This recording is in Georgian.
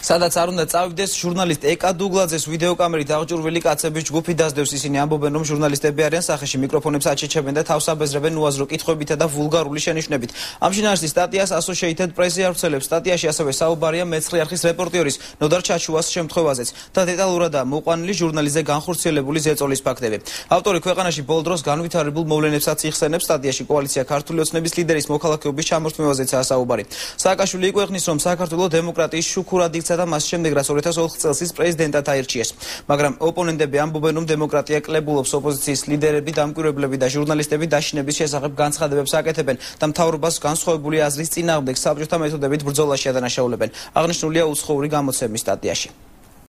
სადაც არ უნდა წავიდეს ჟურნალისტ ეკა დუგლაძეს ვიდეოკამერით აღჭურვილი კაცების ჯგუფი დასდევს. ისინი ამბობენ, რომ ჟურნალისტები არიან სახეში, მიკროფონებს აჩეჩებენ და თავს აბეზრებენ უაზრო კითხვებითა და ვულგარული შენიშვნებით. ამ შინაარსის სტატიას Associated Press ავრცელებს. სტატიაში ასევე საუბარია მეცხრე არხის რეპორტიორის ნოდარ ჩაჩუას შემთხვევაზეც და დეტალურადაა მოყვანილი ჟურნალისტზე განხორციელებული ზეწოლის ფაქტები. ავტორი ქვეყანაში ბოლო დროს განვითარებულ მოვლენებსაც იხსენებს. სტატიაში კოალიცია ქართული ოცნების ლიდერის მოქალაქეობის ჩამორთმევაზეცაა საუბარი. სააკაშვილი იკვეხნის, რომ საქართველოს დემოკრატიის შუქურად იქცა და მას შემდეგ რაც 2004 წელს ის პრეზიდენტად აირჩიეს. მაგრამ ოპონენტები ამბობენ, რომ დემოკრატია კლებულობს, ოპოზიციის ლიდერები, დამკვირვებლები და ჟურნალისტები დაშინების შესახებ განცხადებებს აკეთებენ და მთავრობას განსხვავებული აზრის წინააღმდეგ საბჭოთა მეთოდებით ბრძოლაში ადანაშაულებენ. აღნიშნულია უცხოური გამოცემის სტატიაში.